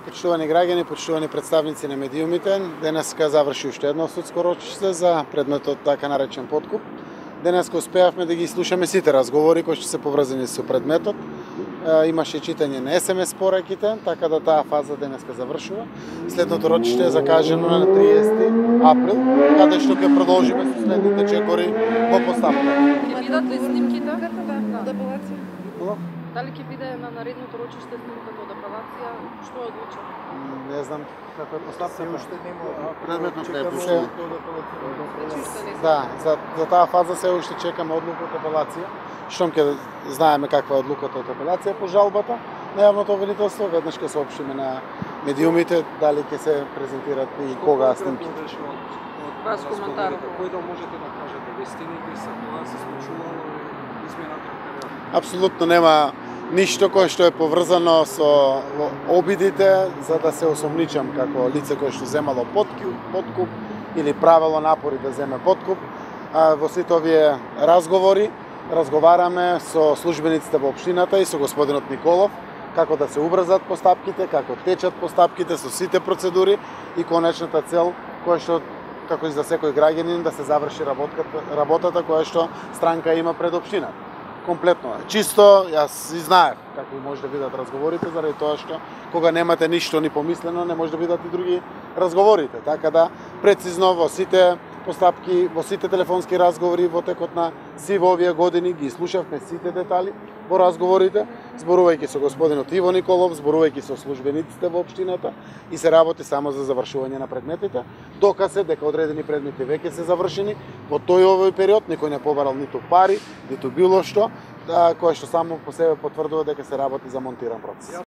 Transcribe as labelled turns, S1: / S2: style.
S1: Почитувани граѓани, почитувани представници на медиумите, денеска заврши уште едно судско рочиште за предметот така наречен подкуп. Денеска успеавме да ги слушаме сите разговори кои што се поврзани со предметот. Имаше читање на СМС пораќите, така да таа фаза денеска завршува. Следното рочиште е закажано на 30 април, каде што ќе продолжиме со следните чекори во постапка.
S2: Ќе бидат ли снимките? Да. Дали ќе биде на наредното рочиште снимката од апелација? Што е одлучено?
S1: Не знам како е постапка.
S3: Уште нема
S1: Предметот не е пуштен. Да, за таа фаза се уште чекаме одлука од апелација. Штом ќе знаеме каква е одлуката од апелација по жалбата на јавното обвинителство, веднаш ќе соопштиме на медиумите дали ќе се презентират и кога снимките.
S2: Вас коментар.
S3: Кој да можете да кажете вистините за тоа се случувало измената на период?
S1: Апсолутно нема ништо кое што е поврзано со обидите за да се осомничам како лице кое што земало подкуп или правело напори да земе подкуп. Во сите овие разговори разговараме со службениците во општината и со господинот Николов како да се убрзат постапките, како течат постапките со сите процедури и конечната цел која што како и за секој граѓанин да се заврши работата која што странка има пред општината. Комплетно е. Чисто, јас и знаев како може да бидат разговорите, заради тоа што кога немате ништо ни помислено, не може да бидат и други разговорите. Така да, прецизно во сите постапки, во сите телефонски разговори во текот на сиво овие години ги слушавме сите детали во разговорите, зборувајќи со господинот Иво Николов, зборувајќи со службениците во општината и се работи само за завршување на предметите. Доказе дека одредени предмети веќе се завршени, во тој овој период никој не побарал ниту пари, ниту било што, кое што само по себе потврдува дека се работи за монтиран процес.